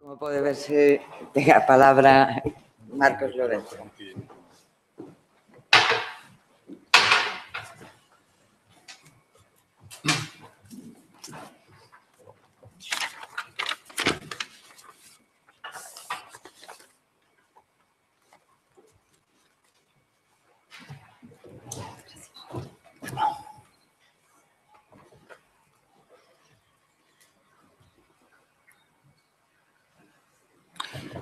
Como pode verse, ten a palabra Marcos Lorenzo.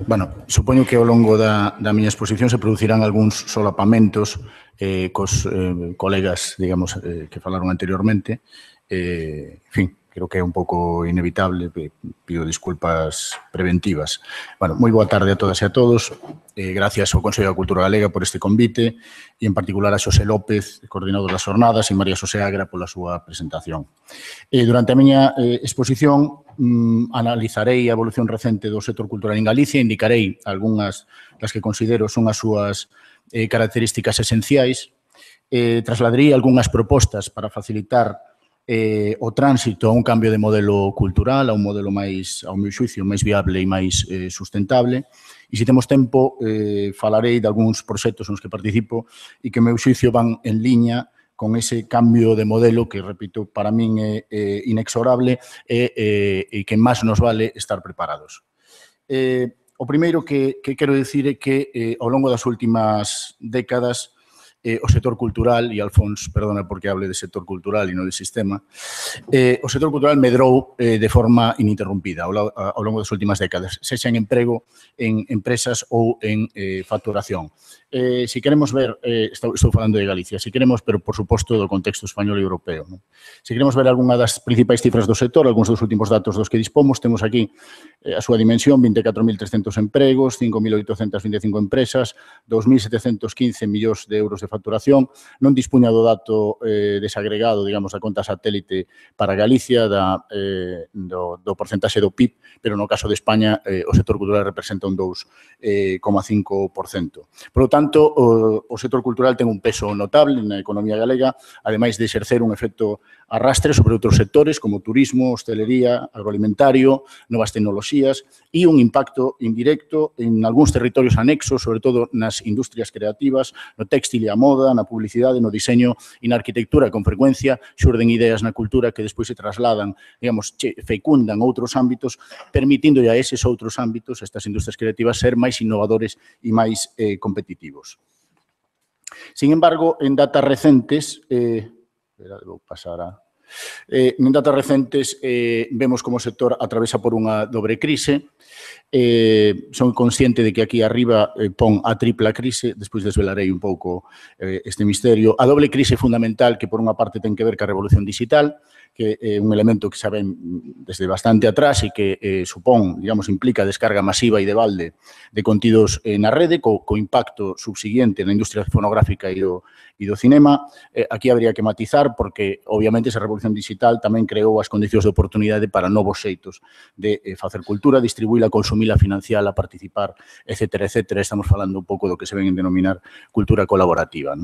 Bueno, supoño que ao longo da miña exposición se producirán algúns solapamentos cos colegas, digamos, que falaron anteriormente. En fin, creo que é un pouco inevitable, pido disculpas preventivas. Bueno, moi boa tarde a todas e a todos. Gracias ao Consello da Cultura Galega por este convite e, en particular, a Xosé López, coordinador das jornadas, e María Xosé Agra pola súa presentación. Durante a miña exposición analizarei a evolución recente do sector cultural en Galicia, indicarei algunhas das que considero son as súas características esenciais, trasladarei algunhas propostas para facilitar o tránsito a un cambio de modelo cultural, a un modelo máis, ao meu xuicio, máis viable e máis sustentable. E, se temos tempo, falarei de algúns proxectos nos que participo e que, ao meu xuicio, van en liña con ese cambio de modelo que, repito, para min é inexorable e que máis nos vale estar preparados. O primeiro que quero dicir é que ao longo das últimas décadas o sector cultural, e Alfons, perdona porque hable de sector cultural e non de sistema, o sector cultural medrou de forma ininterrumpida ao longo das últimas décadas, sexa en emprego, en empresas ou en facturación. Se queremos ver, estou falando de Galicia, se queremos, pero por suposto do contexto español e europeo, se queremos ver algunha das principais cifras do sector, algúns dos últimos datos dos que dispomos, temos aquí a súa dimensión, 24.300 empregos, 5.825 empresas, 2.715 millóns de euros de facturación. Non dispuña do dato desagregado, digamos, da conta satélite para Galicia, do porcentaxe do PIB, pero no caso de España o sector cultural representa un 2,5%. Por lo tanto, o sector cultural ten un peso notable na economía galega, ademais de exercer un efecto arrastre sobre outros sectores como turismo, hostelería, agroalimentario, novas tecnoloxías e un impacto indirecto en algúns territorios anexos, sobre todo nas industrias creativas, no téxtil e a moda, na publicidade, no diseño e na arquitectura. Con frecuencia xurden ideas na cultura que despois se trasladan, digamos, fecundan outros ámbitos, permitindo a eses outros ámbitos, estas industrias creativas, ser máis innovadores e máis competitivos. Sin embargo, en datas recentes, vou pasar a... En datas recentes vemos como o sector atravesa por unha dobre crise. Son consciente de que aquí arriba pon a tripla crise, despois desvelarei un pouco este misterio. A doble crise fundamental que por unha parte ten que ver ca revolución digital, que é un elemento que saben desde bastante atrás e que supón, digamos, implica descarga masiva e de balde de contidos na rede, co impacto subsiguiente na industria fonográfica e do cinema. Aquí habría que matizar porque, obviamente, esa revolución digital tamén creou as condicións de oportunidade para novos xeitos de facer cultura, distribuíla, consumila, financiala, participar, etcétera, etcétera. Estamos falando un pouco do que se ven en denominar cultura colaborativa.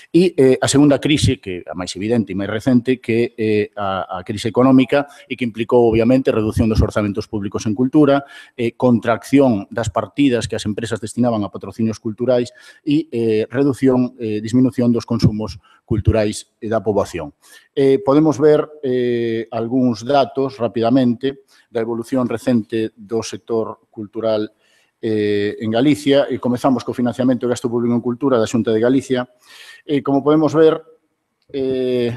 E a segunda crise, que a máis evidente e máis recente, que é a crise económica e que implicou, obviamente, reducción dos orzamentos públicos en cultura, contracción das partidas que as empresas destinaban a patrocinios culturais e disminución dos consumos culturais da poboación. Podemos ver algúns datos rapidamente da evolución recente do sector cultural en Galicia e comezamos co financiamento e gasto público en cultura da Xunta de Galicia. Como podemos ver, en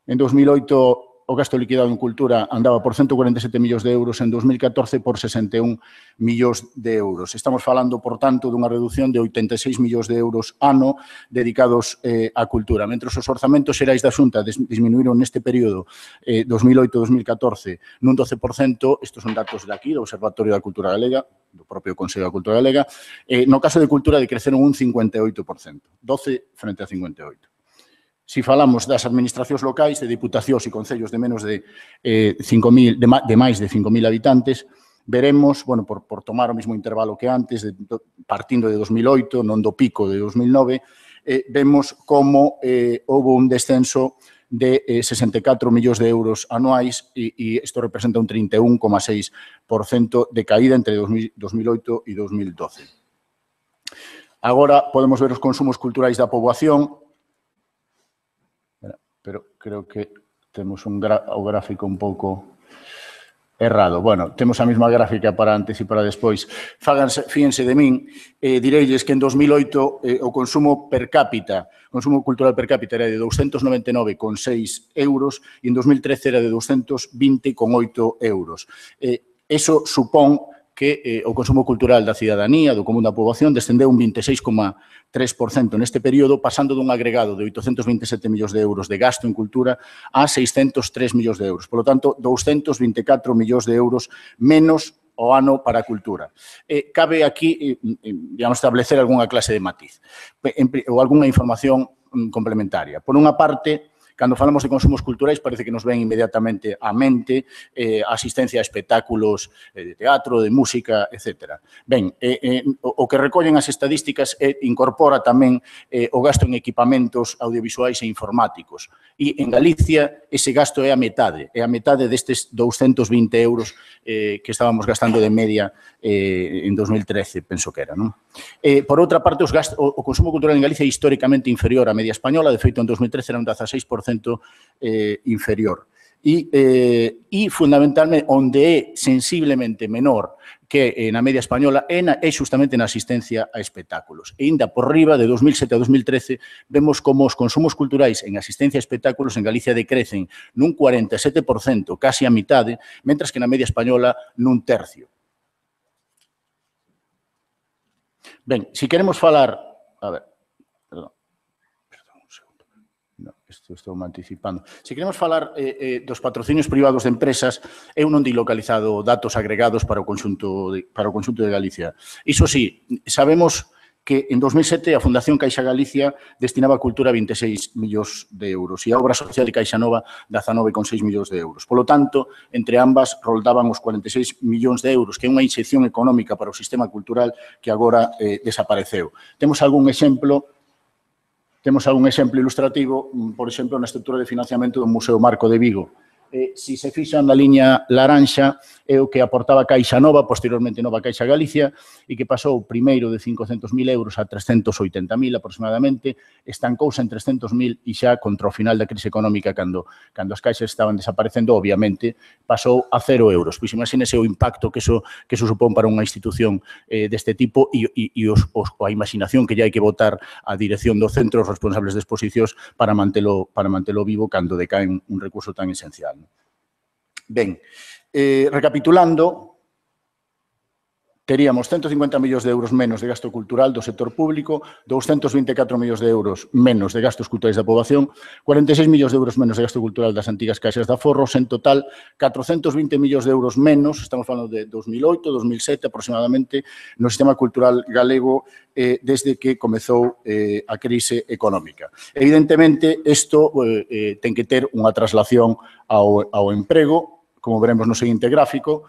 2008 o gasto liquidado en cultura andaba por 147 millóns de euros, en 2014 por 61 millóns de euros. Estamos falando, por tanto, dunha reducción de 86 millóns de euros ano dedicados á cultura. Mentre os orzamentos xerais da Xunta disminuíron neste período 2008-2014 nun 12%, estes son datos de aquí, do Observatorio da Cultura Galega, do propio Consello da Cultura Galega, no caso de cultura decreceron un 58%, 12 frente a 58%. Si falamos das administracións locais, de diputacións e concellos de menos de máis de 5.000 habitantes, veremos, bueno, por tomar o mesmo intervalo que antes, partindo de 2008, non do pico de 2009, vemos como houve un descenso de 64 millóns de euros anuais e isto representa un 31,6% de caída entre 2008 e 2012. Agora podemos ver os consumos culturais da poboación, pero creo que temos o gráfico un pouco errado. Bueno, temos a mesma gráfica para antes e para despois. Fíjense de min, direilles que en 2008 o consumo per cápita, o consumo cultural per cápita era de 299,6 euros e en 2013 era de 220,8 euros. Eso supón que o consumo cultural da cidadanía, do común da poboación, descendeu un 26,3% neste período, pasando dun agregado de 827 millóns de euros de gasto en cultura a 603 millóns de euros. Por lo tanto, 224 millóns de euros menos o ano para a cultura. Cabe aquí, digamos, establecer algunha clase de matiz ou algunha información complementaria. Por unha parte, cando falamos de consumos culturais, parece que nos ven inmediatamente á mente a asistencia a espectáculos de teatro, de música, etc. Ben, o que recollen as estadísticas incorpora tamén o gasto en equipamentos audiovisuais e informáticos. E en Galicia ese gasto é a metade destes 220 euros que estábamos gastando de media en 2013, penso que era, non? Por outra parte, o consumo cultural en Galicia é históricamente inferior á media española, de feito, en 2013 era un 16% inferior. E fundamentalmente, onde é sensiblemente menor que na media española é justamente na asistencia a espectáculos. E ainda por riba, de 2007 a 2013, vemos como os consumos culturais en asistencia a espectáculos en Galicia decrecen nun 47%, casi a mitade, mentras que na media española nun tercio. Ben, se queremos falar... A ver, perdón un segundo. No, estou me anticipando. Se queremos falar dos patrocinios privados de empresas, eu non di localizado datos agregados para o conxunto de Galicia. Iso sí, sabemos que en 2007 a Fundación Caixa Galicia destinaba a cultura 26 millóns de euros e a Obra Social de Caixa Nova 19,6 millóns de euros. Polo tanto, entre ambas roldaban os 46 millóns de euros, que é unha inxección económica para o sistema cultural que agora desapareceu. Temos algún exemplo ilustrativo, por exemplo, na estrutura de financiamento do Museo Marco de Vigo. Se se fixan na liña laranxa, é o que aportaba Caixa Nova, posteriormente Nova Caixa Galicia, e que pasou primeiro de 500.000 euros a 380.000 aproximadamente, estancouse en 300.000 e xa contra o final da crise económica, cando as caixas estaban desaparecendo, obviamente, pasou a 0 euros. Pois imagínese o impacto que eso supón para unha institución deste tipo e a imaginación que lle hai que botar a dirección do centro, os responsables de exposicións, para mantelo vivo cando decaen un recurso tan esencial. Ben, recapitulando, teríamos 150 millóns de euros menos de gasto cultural do sector público, 224 millóns de euros menos de gastos culturais da poboación, 46 millóns de euros menos de gasto cultural das antigas caixas de aforros, en total 420 millóns de euros menos, estamos falando de 2008, 2007 aproximadamente, no sistema cultural galego desde que comezou a crise económica. Evidentemente, isto ten que ter unha traslación ao emprego, como veremos no seguinte gráfico.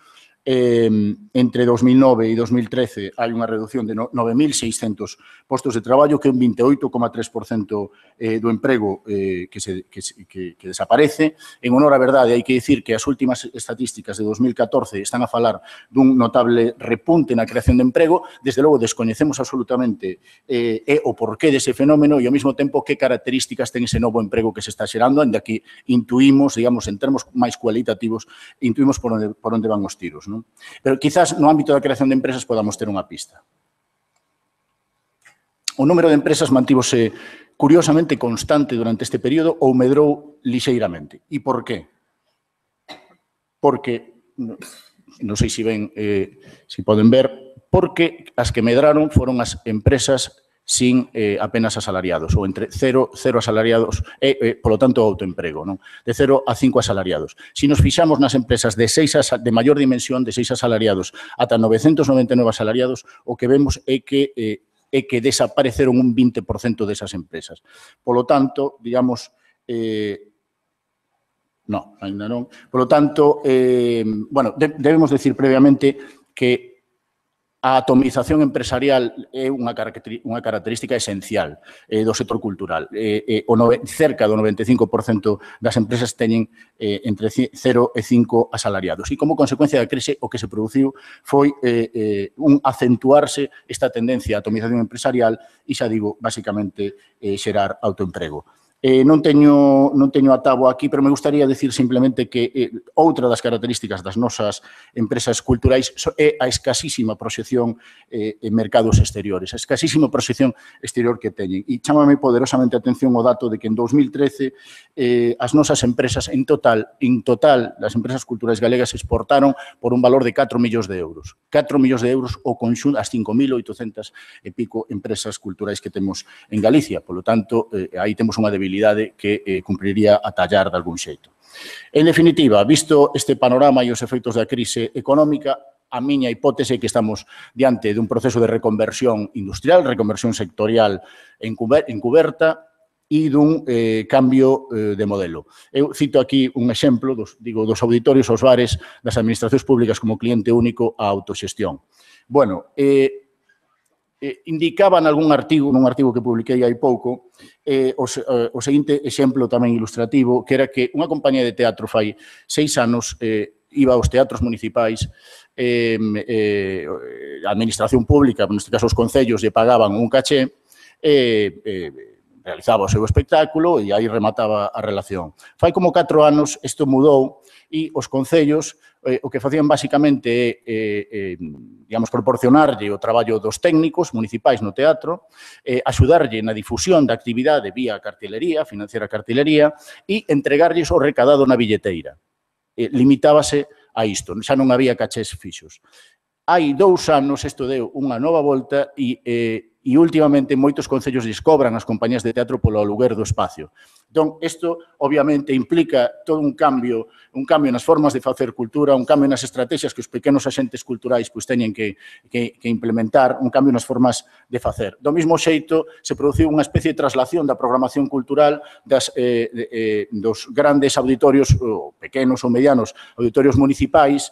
Entre 2009 e 2013 hai unha reducción de 9.600 postos de traballo, que é un 28,3% do emprego que desaparece. En honor á verdade, hai que dicir que as últimas estatísticas de 2014 están a falar dun notable repunte na creación de emprego. Desde logo, descoñecemos absolutamente o porqué dese fenómeno e, ao mesmo tempo, que características ten ese novo emprego que se está xerando, ainda que intuímos, digamos, en termos máis cualitativos, intuímos por onde van os tiros, non? Pero quizás no ámbito da creación de empresas podamos ter unha pista. O número de empresas mantívose curiosamente constante durante este período ou medrou lixeiramente. E por qué? Porque, non sei se poden ver, porque as que medraron foron as empresas sin apenas asalariados, ou entre 0 asalariados, polo tanto, autoemprego, non? De 0 a 5 asalariados. Se nos fixamos nas empresas de maior dimensión, de 6 asalariados, ata 999 asalariados, o que vemos é que desapareceron un 20% desas empresas. Polo tanto, digamos, non, ainda non. Polo tanto, bueno, debemos decir previamente que A atomización empresarial é unha característica esencial do sector cultural. Cerca do 95% das empresas teñen entre 0 e 5 asalariados. E como consecuencia da crise, o que se produciu foi un acentuarse esta tendencia a atomización empresarial e, xa digo, basicamente xerar autoemprego. Non teño a táboa aquí, pero me gustaría decir simplemente que outra das características das nosas empresas culturais é a escasísima proxección en mercados exteriores, a escasísima proxección exterior que teñen. E chámame poderosamente a atención o dato de que en 2013 as nosas empresas, en total, as empresas culturais galegas exportaron por un valor de 4 millóns de euros. 4 millóns de euros o conxunto, as 5.800 e pico empresas culturais que temos en Galicia. Por lo tanto, aí temos unha debilidade que cumpriría a tallar de algún xeito. En definitiva, visto este panorama e os efeitos da crise económica, a miña hipótese é que estamos diante dun proceso de reconversión industrial, reconversión sectorial encuberta e dun cambio de modelo. Eu cito aquí un exemplo dos auditorios aos bares das administracións públicas como cliente único á autoxestión. Bueno, indicaba nun artigo que publiquei hai pouco, o seguinte exemplo tamén ilustrativo, que era que unha compañía de teatro fai 6 anos iba aos teatros municipais, a administración pública, neste caso os concellos, lle pagaban un caché, realizaba o seu espectáculo e aí remataba a relación. Fai como 4 anos isto mudou e os concellos o que facían basicamente é, digamos, proporcionarlle o traballo dos técnicos municipais no teatro, axudarlle na difusión da actividade vía cartelería, financiar a cartelería e entregarlles o recadado na billeteira. Limitábase a isto, xa non había cachés fixos. Hai 2 anos isto deu unha nova volta e últimamente moitos concellos lles cobran as compañías de teatro polo aluguer do espacio. Entón, isto obviamente implica todo un cambio nas formas de facer cultura, un cambio nas estrategias que os pequenos axentes culturais teñen que implementar, un cambio nas formas de facer. Do mesmo xeito, se produciu unha especie de traslación da programación cultural dos grandes auditorios, pequenos ou medianos auditorios municipais,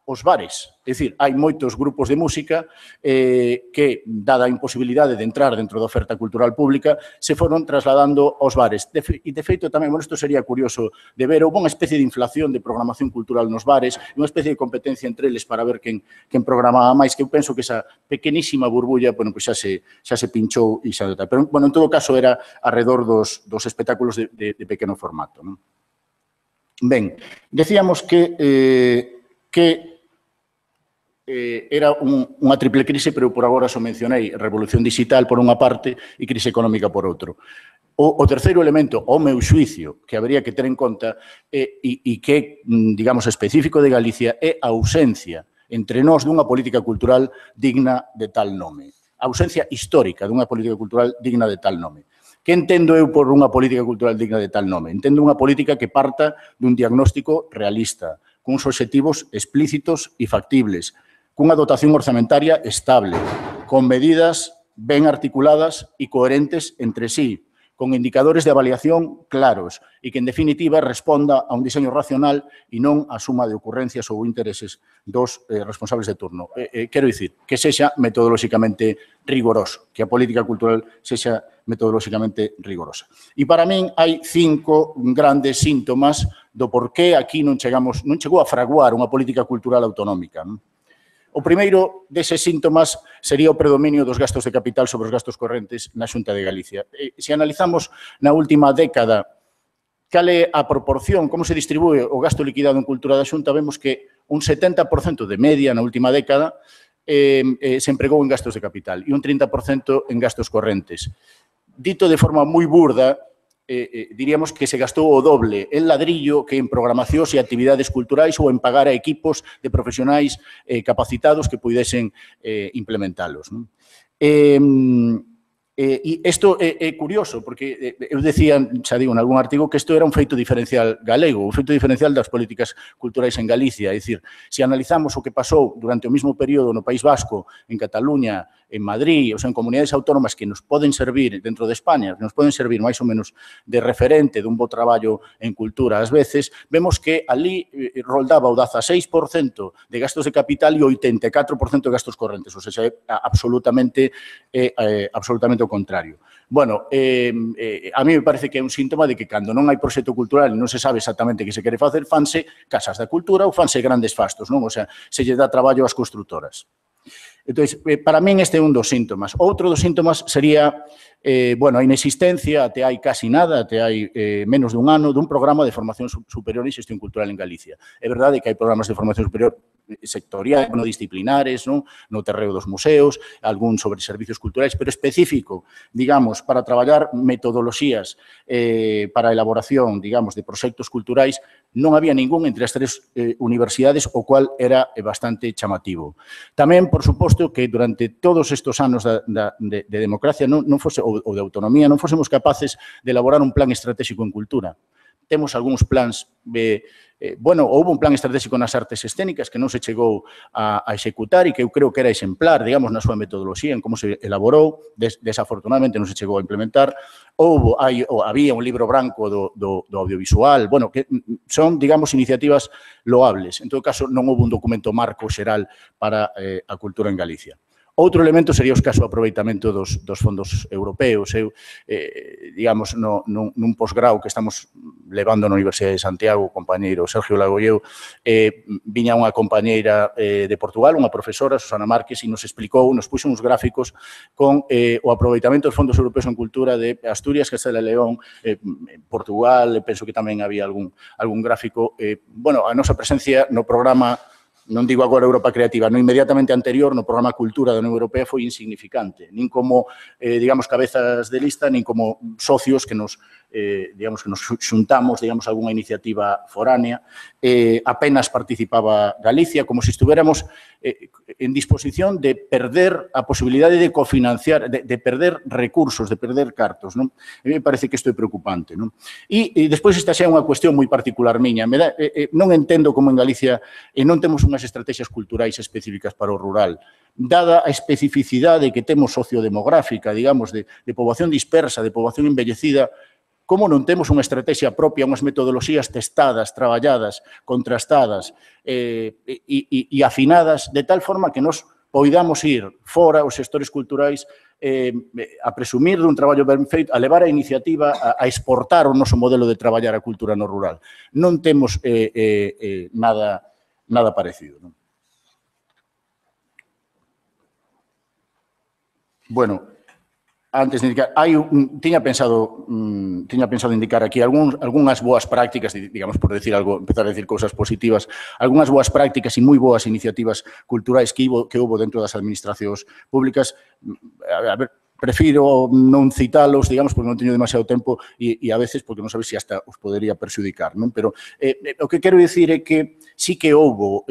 aos bares. É dicir, hai moitos grupos de música que, dada a imposibilidade de entrar dentro da oferta cultural pública, se foron trasladando aos bares. E, de feito, tamén, bueno, isto sería curioso de ver, houve unha especie de inflación de programación cultural nos bares, unha especie de competencia entre eles para ver quen programaba máis, que eu penso que esa pequenísima burbulla, bueno, pues xa se pinchou e xa tal. Pero, bueno, en todo caso, era alrededor dos espectáculos de pequeno formato, non? Ben, decíamos que era unha triple crise, pero por agora só mencionei revolución digital por unha parte e crise económica por outro. O terceiro elemento, ao meu xuicio, que habría que ter en conta e que, digamos, específico de Galicia, é a ausencia entre nós dunha política cultural digna de tal nome. A ausencia histórica dunha política cultural digna de tal nome. Que entendo eu por unha política cultural digna de tal nome? Entendo unha política que parta dun diagnóstico realista, cuns obxectivos explícitos e factibles, cunha dotación orzamentaria estable, con medidas ben articuladas e coherentes entre sí, con indicadores de avaliación claros e que, en definitiva, responda a un diseño racional e non a suma de ocurrencias ou intereses dos responsables de turno. Quero dicir, que sexa metodolóxicamente rigoroso, que a política cultural sexa metodolóxicamente rigorosa. E para min hai 5 grandes síntomas do por que aquí non chegou a fraguar unha política cultural autonómica. O primeiro deses síntomas sería o predominio dos gastos de capital sobre os gastos correntes na Xunta de Galicia. Se analizamos na última década cal é a proporción, como se distribúe o gasto liquidado en cultura da Xunta, vemos que un 70% de media na última década se empregou en gastos de capital e un 30% en gastos correntes. Dito de forma moi burda, diríamos que se gastou o doble en ladrillo que en programacións e actividades culturais ou en pagar a equipos de profesionais capacitados que pudesen implementalos. E isto é curioso, porque eu decía, xa digo, en algún artigo, que isto era un feito diferencial galego, un feito diferencial das políticas culturais en Galicia. É dicir, se analizamos o que pasou durante o mesmo período no País Vasco, en Cataluña, en Madrid, ou sea, en comunidades autónomas que nos poden servir dentro de España, que nos poden servir máis ou menos de referente dun bo traballo en cultura ás veces, vemos que ali roldaba o 16% de gastos de capital e o 84% de gastos correntes, ou seja, é absolutamente o contrario. Bueno, a mí me parece que é un síntoma de que cando non hai proxecto cultural e non se sabe exactamente que se quere facer, fanse casas da cultura ou fanse grandes fastos, non? O sea, se lle dá traballo ás constructoras. Entón, para min este é un dos síntomas. Outro dos síntomas sería, bueno, a inexistencia, até hai casi nada, até hai menos dun ano, dun programa de formación superior e xestión cultural en Galicia. É verdade que hai programas de formación superior sectoriais, monodisciplinares, non? No terreo dos museos, algún sobre servicios culturais, pero específico, digamos, para traballar metodoloxías para a elaboración, digamos, de proxectos culturais, non había ningún entre as tres universidades, o cual era bastante chamativo. Tamén, por suposto, que durante todos estes anos de democracia ou de autonomía non fósemos capaces de elaborar un plan estratégico en cultura. Temos algúns plans, bueno, houve un plan estratégico nas artes escénicas que non se chegou a executar e que eu creo que era exemplar, digamos, na súa metodoloxía, en como se elaborou, desafortunadamente non se chegou a implementar. Había un libro branco do audiovisual, bueno, que son, digamos, iniciativas loables. En todo caso, non houve un documento marco xeral para a cultura en Galicia. Outro elemento sería o escaso aproveitamento dos fondos europeos. Eu, digamos, nun posgrau que estamos levando na Universidade de Santiago, o compañeiro Sergio Lago e eu, viña unha compañeira de Portugal, unha profesora, Susana Márquez, e nos explicou, nos puxo uns gráficos con o aproveitamento dos fondos europeos en cultura de Asturias, Castela e León, Portugal, penso que tamén había algún gráfico. Bueno, a nosa presencia no programa, non digo agora Europa Creativa, no inmediatamente anterior, no programa Cultura da Unión Europea, foi insignificante, nin como, digamos, cabezas de lista, nin como socios que nos, digamos, que nos xuntamos, digamos, algunha iniciativa foránea. Apenas participaba Galicia, como se estuviéramos en disposición de perder a posibilidade de cofinanciar, de perder recursos, de perder cartos, non? A mí me parece que isto é preocupante, non? E despois esta xa é unha cuestión moi particular miña. Non entendo como en Galicia non temos unhas estrategias culturais específicas para o rural, dada a especificidade que temos sociodemográfica, digamos, de poboación dispersa, de poboación envellecida, como non temos unha estrategia propia, unhas metodoloxías testadas, traballadas, contrastadas e afinadas, de tal forma que nos poidamos ir fora os sectores culturais a presumir dun traballo ben feito, a levar a iniciativa a exportar o noso modelo de traballar a cultura no rural. Non temos nada parecido. Bueno, antes de indicar, tiña pensado indicar aquí algunhas boas prácticas, digamos, por decir algo, empezar a decir cousas positivas, algunhas boas prácticas e moi boas iniciativas culturais que houve dentro das administracións públicas. A ver, prefiro non citalos, digamos, porque non teño demasiado tempo e a veces porque non sabes se hasta os podería perxudicar, non? Pero o que quero dicir é que sí que houve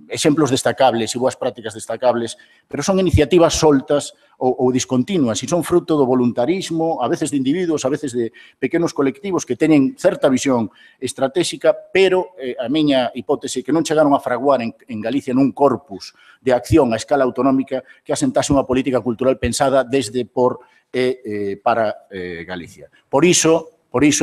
exemplos destacables e boas prácticas destacables, pero son iniciativas soltas ou discontinuas e son fruto do voluntarismo, a veces de individuos, a veces de pequenos colectivos que teñen certa visión estratégica, pero a miña hipótese que non chegaron a fraguar en Galicia nun corpus de acción a escala autonómica que asentase unha política cultural pensada desde, por e para Galicia. Por iso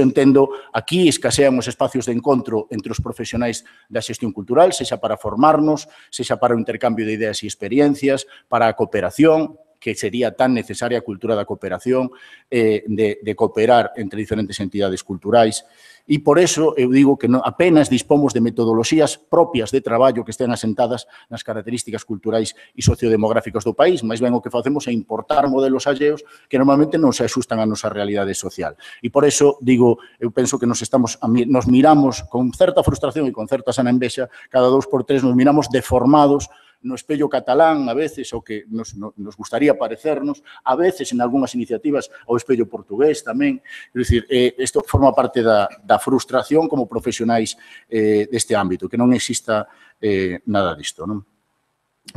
entendo, aquí escasean os espacios de encontro entre os profesionais da xestión cultural, sexa para formarnos, sexa para o intercambio de ideas e experiencias, para a cooperación, que sería tan necesaria a cultura da cooperación, de cooperar entre diferentes entidades culturais. E por eso eu digo que apenas dispomos de metodoloxías propias de traballo que estén asentadas nas características culturais e sociodemográficas do país, máis ben o que facemos é importar modelos alleos que normalmente non se axustan á nosa realidade social. E por eso, digo, eu penso que nos miramos con certa frustración e con certa sana envexa, cada 2 por 3 nos miramos deformados no espello catalán, a veces, o que nos gustaría parecernos, a veces, en algunhas iniciativas, ao espello portugués tamén. É dicir, isto forma parte da frustración como profesionais deste ámbito, que non exista nada disto, non?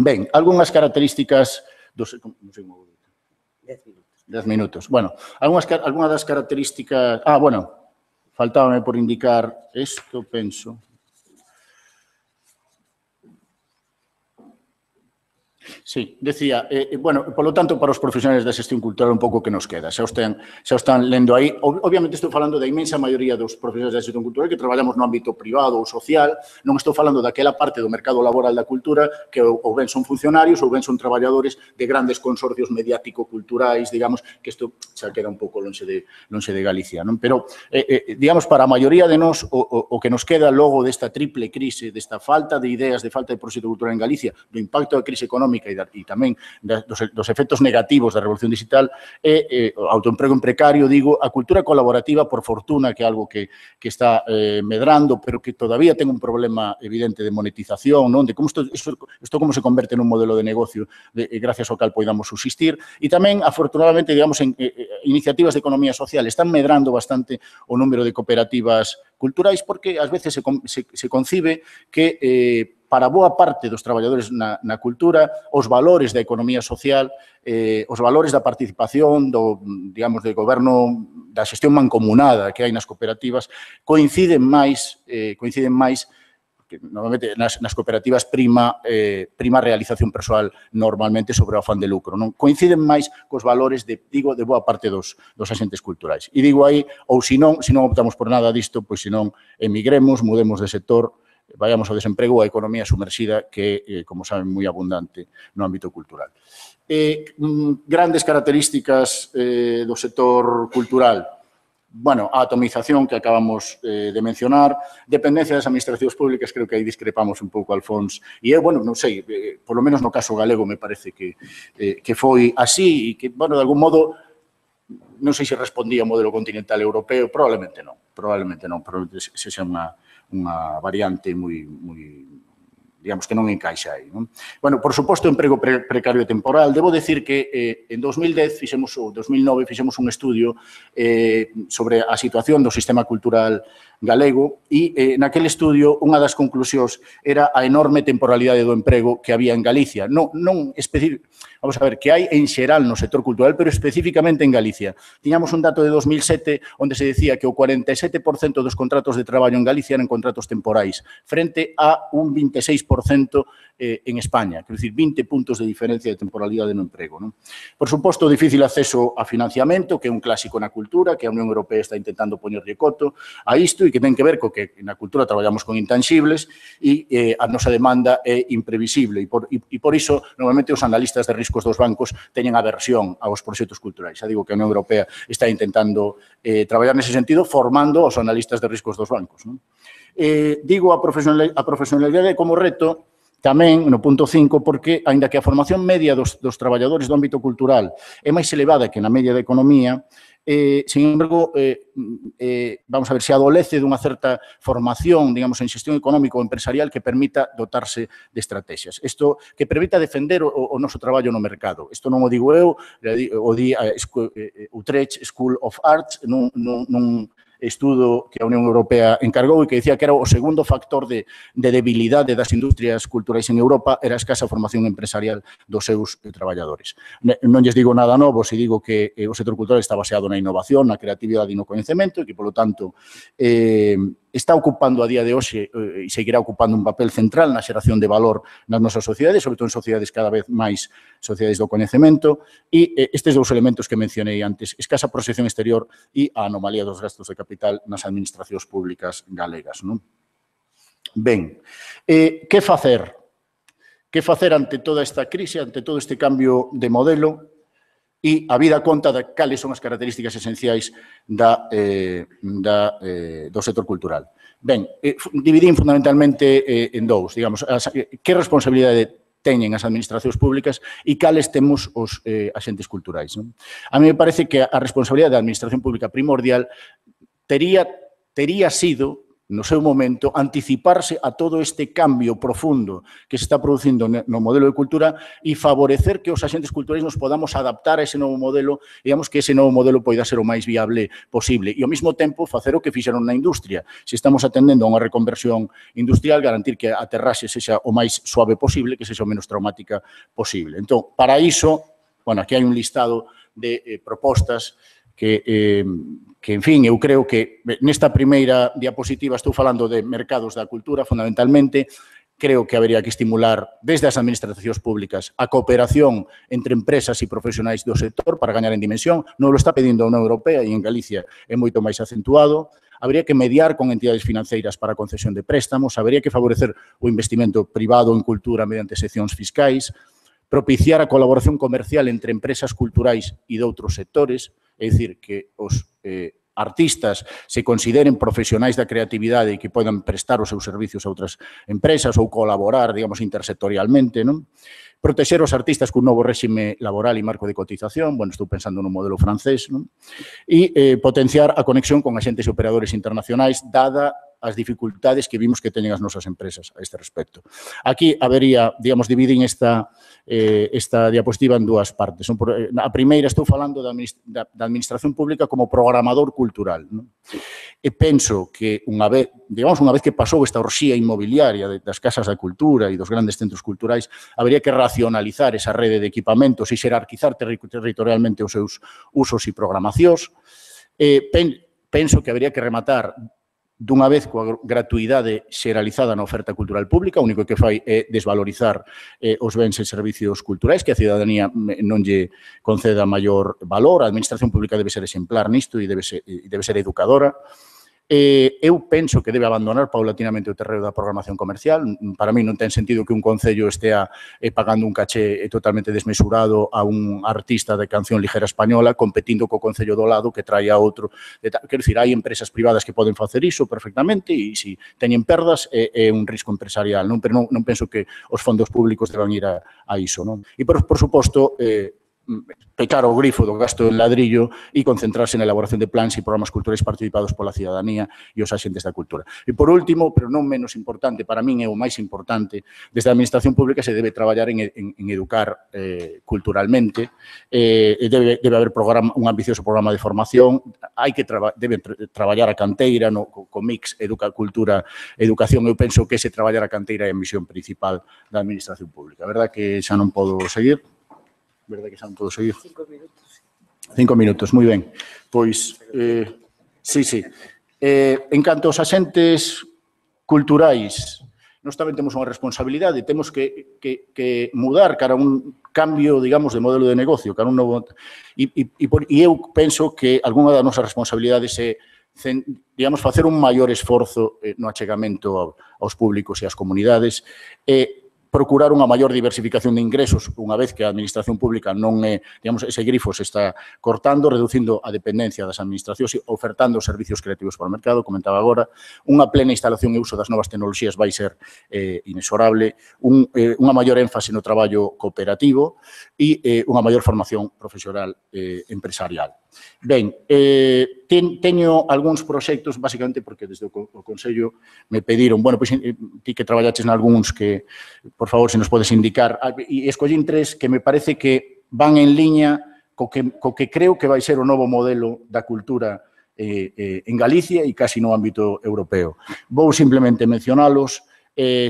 Ben, algunhas características dos... Non sei como... 10 minutos. 10 minutos. Bueno, algunha das características... bueno, faltábame por indicar isto, penso... Sí, decía, bueno, polo tanto, para os profesionales da xestión cultural un pouco que nos queda. Xa o están lendo aí. Obviamente estou falando da inmensa maioría dos profesionales da xestión cultural que traballamos no ámbito privado ou social. Non estou falando daquela parte do mercado laboral da cultura que ou ben son funcionarios ou ben son traballadores de grandes consorcios mediático-culturais, digamos, que isto xa queda un pouco lonxe de Galicia, non? Pero, digamos, para a maioría de nós, o que nos queda logo desta triple crise, desta falta de ideas, de falta de proxecto cultural en Galicia, do impacto da crise económica e tamén dos efectos negativos da revolución digital é o autoemprego en precario, digo, a cultura colaborativa, por fortuna, que é algo que está medrando, pero que todavía ten un problema evidente de monetización, non? De como isto como se converte nun modelo de negocio gracias ao cal poidamos subsistir. E tamén, afortunadamente, digamos, en iniciativas de economía social están medrando bastante o número de cooperativas culturais porque ás veces se concibe que para boa parte dos traballadores na cultura, os valores da economía social, os valores da participación, digamos, do goberno, da xestión mancomunada que hai nas cooperativas, coinciden máis, que normalmente nas cooperativas prima a realización persoal normalmente sobre o afán de lucro. Non coinciden máis cos valores de boa parte dos axentes culturais. E digo aí, ou se non optamos por nada disto, pois se non emigremos, mudemos de sector, vayamos ao desemprego ou a economía sumerxida que é, como saben, moi abundante no ámbito cultural. Grandes características do sector cultural. Bueno, a atomización que acabamos de mencionar, dependencia das administracións públicas, creo que aí discrepamos un pouco, Alfons, e eu, bueno, non sei, por lo menos no caso galego me parece que foi así e que, bueno, de algún modo, non sei se respondía ao modelo continental europeo, probablemente non, pero se xa unha variante moi, digamos, que non encaixa aí, non? Bueno, por suposto, emprego precario temporal. Debo decir que en 2010 ou 2009 fixemos un estudio sobre a situación do sistema cultural galego e naquele estudio unha das conclusións era a enorme temporalidade do emprego que había en Galicia. Vamos a ver, que hai en xeral no sector cultural, pero especificamente en Galicia. Tiñamos un dato de 2007 onde se decía que o 47% dos contratos de traballo en Galicia eran contratos temporais, frente a un 26% en España, quero dicir, 20 puntos de diferencia de temporalidade no emprego, non? Por suposto, difícil acceso a financiamento, que é un clásico na cultura, que a Unión Europea está intentando poñerlle coto a isto e que ten que ver co que na cultura traballamos con intangibles e a nosa demanda é imprevisible e por iso, normalmente, os analistas de riscos dos bancos teñen aversión aos proxectos culturais. Xa digo que a Unión Europea está intentando traballar nese sentido, formando os analistas de riscos dos bancos, non? Digo a profesionalidade como reto tamén no punto 5 porque, aínda que a formación media dos traballadores do ámbito cultural é máis elevada que na media da economía, sin embargo, vamos a ver, se adolece dunha certa formación, digamos, en xestión económica ou empresarial que permita dotarse de estrategias. Isto que permita defender o noso traballo no mercado. Isto non o digo eu, o di a Utrecht School of Arts nun estudo que a Unión Europea encargou e que dicía que era o segundo factor de debilidade das industrias culturais en Europa era a escasa formación empresarial dos seus traballadores. Non lles digo nada novo se digo que o sector cultural está baseado na innovación, na creatividade e no coñecemento e que, polo tanto, está ocupando a día de hoxe e seguirá ocupando un papel central na xeración de valor nas nosas sociedades, sobre todo en sociedades cada vez máis sociedades do coñecemento, e estes dous elementos que mencionei antes, escasa proxección exterior e a anomalía dos gastos de capital nas administracións públicas galegas, non? Ben, que facer? Que facer ante toda esta crise, ante todo este cambio de modelo? E a vida conta de cales son as características esenciais do sector cultural. Ben, dividín fundamentalmente en dous, digamos, que responsabilidade teñen as administracións públicas e cales temos os axentes culturais, non? A mí me parece que a responsabilidade da administración pública primordial tería sido, no seu momento, anticiparse a todo este cambio profundo que se está producindo no modelo de cultura e favorecer que os axentes culturais nos podamos adaptar a ese novo modelo, digamos que ese novo modelo poida ser o máis viable posible e, ao mesmo tempo, facer o que fixeron na industria. Se estamos atendendo a unha reconversión industrial, garantir que a aterraxe sexa o máis suave posible, que sexa o menos traumática posible. Entón, para iso, bueno, aquí hai un listado de propostas que, en fin, eu creo que nesta primeira diapositiva estou falando de mercados da cultura, fundamentalmente, creo que habería que estimular desde as administracións públicas a cooperación entre empresas e profesionais do sector para gañar en dimensión. Non lo está pedindo a Unión Europea e en Galicia é moito máis acentuado. Habría que mediar con entidades financeiras para a concesión de préstamos, habría que favorecer o investimento privado en cultura mediante seccións fiscais, propiciar a colaboración comercial entre empresas culturais e de outros sectores, é dicir, que os artistas se consideren profesionais da creatividade e que podan prestar os seus servicios a outras empresas ou colaborar, digamos, intersectorialmente, non? Protexer os artistas cun novo réxime laboral e marco de cotización, bueno, estou pensando no modelo francés, non? E potenciar a conexión con agentes e operadores internacionais, dada as dificultades que vimos que teñen as nosas empresas a este respecto. Aquí habería, digamos, dividín esta diapositiva en dúas partes. A primeira estou falando da administración pública como programador cultural. E penso que unha vez que pasou esta orxía inmobiliaria das casas da cultura e dos grandes centros culturais, habería que racionalizar esa rede de equipamentos e xerarquizar territorialmente os seus usos e programacións. Penso que habería que rematar dunha vez coa gratuidade xeralizada na oferta cultural pública, o único que fai é desvalorizar os bens e servicios culturais, que a cidadanía non lle conceda maior valor. A administración pública debe ser exemplar nisto e debe ser educadora. Eu penso que debe abandonar paulatinamente o terreo da programación comercial. Para mí non ten sentido que un concello estea pagando un caché totalmente desmesurado a un artista de canción ligera española competindo co concello do lado que trae a outro. Quero dicir, hai empresas privadas que poden facer iso perfectamente e se teñen perdas é un risco empresarial, non? Pero non penso que os fondos públicos deban ir a iso, non? E, por suposto, pechar o grifo do gasto en ladrillo e concentrarse na elaboración de plans e programas culturais participados pola cidadanía e os axentes da cultura. E, por último, pero non menos importante, para min é o máis importante, desde a administración pública se debe traballar en educar culturalmente, debe haber un ambicioso programa de formación, debe traballar a canteira co mix educación. Eu penso que ese traballar a canteira é a misión principal da administración pública. A verdad que xa non podo seguir. Verdade que xa non podo seguir? 5 minutos. 5 minutos, moi ben. Pois, sí. En canto aos axentes culturais, nós tamén temos unha responsabilidade, temos que mudar cara a un cambio, digamos, de modelo de negocio, cara a un novo... E eu penso que algunha das nosas responsabilidades é, digamos, facer un maior esforzo no achegamento aos públicos e ás comunidades, procurar unha maior diversificación de ingresos, unha vez que a administración pública non é, digamos, ese grifo se está cortando, reducindo a dependencia das administracións e ofertando servicios creativos para o mercado, comentaba agora, unha plena instalación e uso das novas tecnoloxías vai ser inexorable, unha maior énfase no traballo cooperativo e unha maior formación profesional empresarial. Ben, teño algúns proxectos, basicamente porque desde o Consello me pediron, bueno, pois ti que traballaches nalgúns que, por favor, se nos podes indicar, e escollín 3 que me parece que van en liña co que creo que vai ser o novo modelo da cultura en Galicia e casi no ámbito europeo. Vou simplemente mencionalos,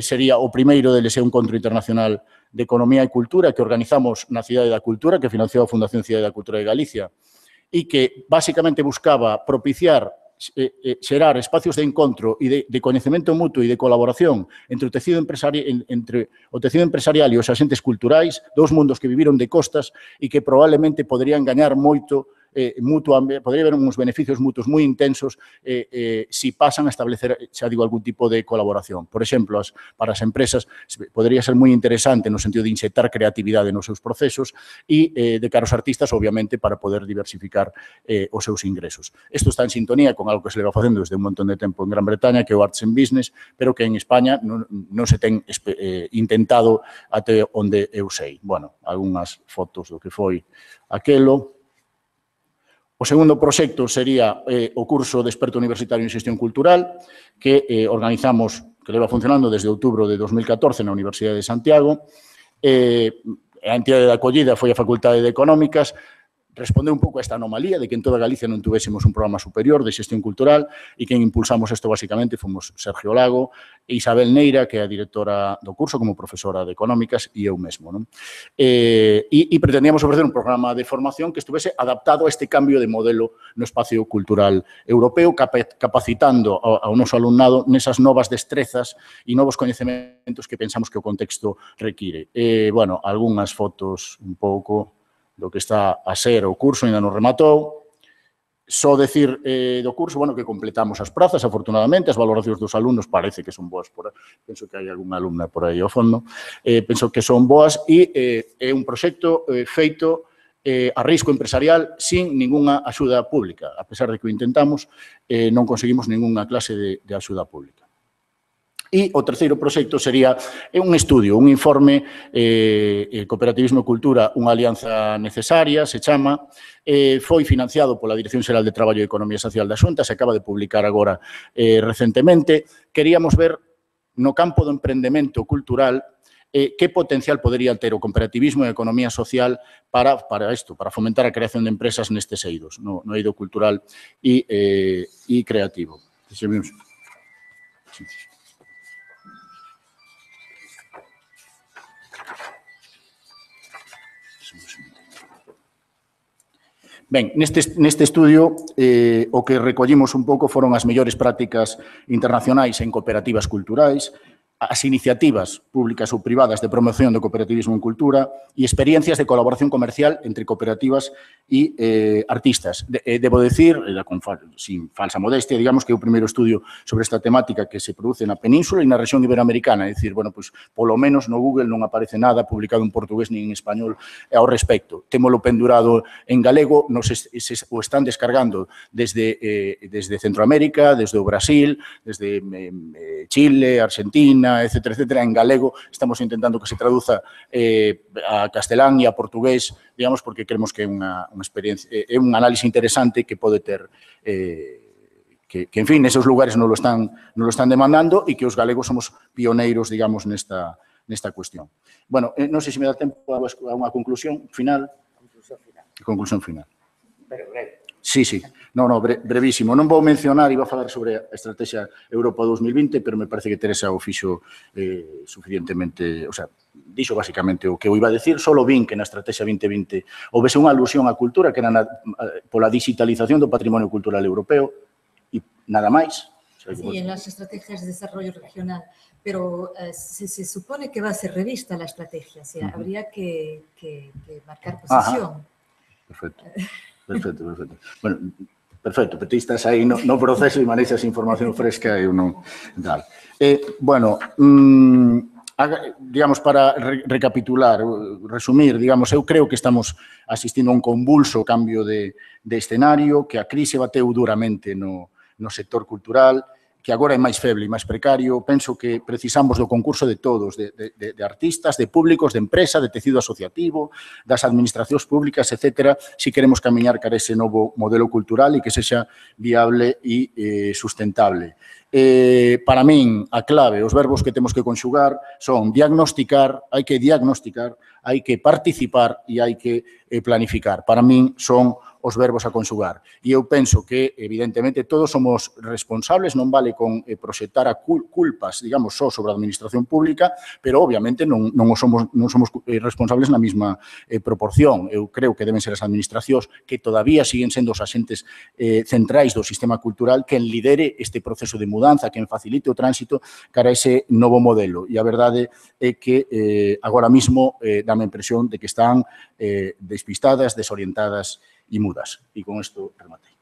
sería o primeiro deles é un encontro internacional de economía e cultura que organizamos na Cidade da Cultura, que financiou a Fundación Cidade da Cultura de Galicia, e que basicamente buscaba propiciar, xerar espacios de encontro e de coñecemento mutuo e de colaboración entre o tecido empresarial e os axentes culturais, dous mundos que viviron de costas e que probablemente poderían gañar moito podría haber uns beneficios mutuos moi intensos se pasan a establecer, xa digo, algún tipo de colaboración. Por exemplo, para as empresas podría ser moi interesante no sentido de inxectar creatividade nos seus procesos e de cara aos artistas, obviamente, para poder diversificar os seus ingresos. Isto está en sintonía con algo que se leva facendo desde un montón de tempo en Gran Bretaña, que é o Arts and Business, pero que en España non se ten intentado até onde eu sei. Bueno, algunhas fotos do que foi aquelo. O segundo proxecto sería o curso de experto universitario en xestión cultural que organizamos, que leva funcionando desde outubro de 2014 na Universidade de Santiago. A entidade de acollida foi a Facultade de Económicas. respondeu un pouco a esta anomalía de que en toda Galicia non tuvésemos un programa superior de xestión cultural e quen impulsamos isto basicamente fomos Sergio Lago e Isabel Neira, que é a directora do curso como profesora de Económicas, e eu mesmo. Non? E pretendíamos ofrecer un programa de formación que estuvese adaptado a este cambio de modelo no espacio cultural europeo, capacitando ao noso alumnado nesas novas destrezas e novos coñecementos que pensamos que o contexto require. Bueno, algunhas fotos un pouco do que está a ser o curso, ainda non rematou. Só decir do curso, bueno, que completamos as prazas, afortunadamente, as valoracións dos alumnos parece que son boas, penso que hai algunha alumna por aí ao fondo, penso que son boas e é un proxecto feito a risco empresarial sin ninguna axuda pública. A pesar de que o intentamos, non conseguimos ninguna clase de axuda pública. E o terceiro proxecto sería un estudio, un informe, Cooperativismo e Cultura, unha alianza necesaria, se chama, foi financiado pola Dirección Xeral de Traballo e Economía Social da Xunta, se acaba de publicar agora recentemente. Queríamos ver no campo do emprendemento cultural que potencial podería ter o cooperativismo e a economía social para isto, para fomentar a creación de empresas nestes eidos, no eido cultural e creativo. Ben, neste estudio o que recollimos un pouco foron as mellores prácticas internacionais en cooperativas culturais, as iniciativas públicas ou privadas de promoción do cooperativismo en cultura e experiencias de colaboración comercial entre cooperativas e artistas. Debo decir, sin falsa modestia, digamos que é o primeiro estudio sobre esta temática que se produce na península e na rexión iberoamericana. É dicir, bueno, pois, polo menos no Google non aparece nada publicado en portugués nin en español ao respecto. Témolo pendurado en galego, o están descargando desde Centroamérica, desde o Brasil, desde Chile, Argentina, etcétera, en galego. Estamos intentando que se traduza a castelán e a portugués, digamos, porque creemos que é unha experiencia, é un análise interesante que pode ter, que en fin, nesos lugares non lo están demandando e que os galegos somos pioneiros, digamos, nesta cuestión. Bueno, non sei se me dá tempo a unha conclusión final. Conclusión final. Pero breve. Sí. No, brevísimo. Non vou mencionar, iba a falar sobre a Estrategia Europa 2020, pero me parece que Teresa o fixo suficientemente, o sea, dixo basicamente o que eu iba a decir, solo vin que na Estrategia 2020 houvese unha alusión á cultura que era pola digitalización do patrimonio cultural europeo e nada máis. Sí, en las estrategias de desarrollo regional, pero se supone que va a ser revista la estrategia, o sea, habría que marcar posición. Perfecto. Bueno, perfecto, pero ti estás aí no proceso e manexas información fresca e non tal. Bueno, digamos, para recapitular, resumir, digamos, eu creo que estamos asistindo a un convulso cambio de escenario, que a crise bateu duramente no sector cultural, que agora é máis feble e máis precario. Penso que precisamos do concurso de todos, de artistas, de públicos, de empresa, de tecido asociativo, das administracións públicas, etcétera, se queremos camiñar cara ese novo modelo cultural e que sexa viable e sustentable. Para min, a clave, os verbos que temos que conxugar son diagnosticar, hai que diagnosticar, hai que participar e hai que planificar. Para min son os verbos a conxugar. E eu penso que, evidentemente, todos somos responsables, non vale con proxectar a culpas, digamos, só sobre a administración pública, pero, obviamente, non somos responsables na mesma proporción. Eu creo que deben ser as administracións que todavía siguen sendo os axentes centrais do sistema cultural quen lidere este proceso de mudanza, quen facilite o tránsito cara a ese novo modelo. E a verdade é que agora mesmo dame a impresión de que están despistadas, desorientadas e mudas. E con isto rematei.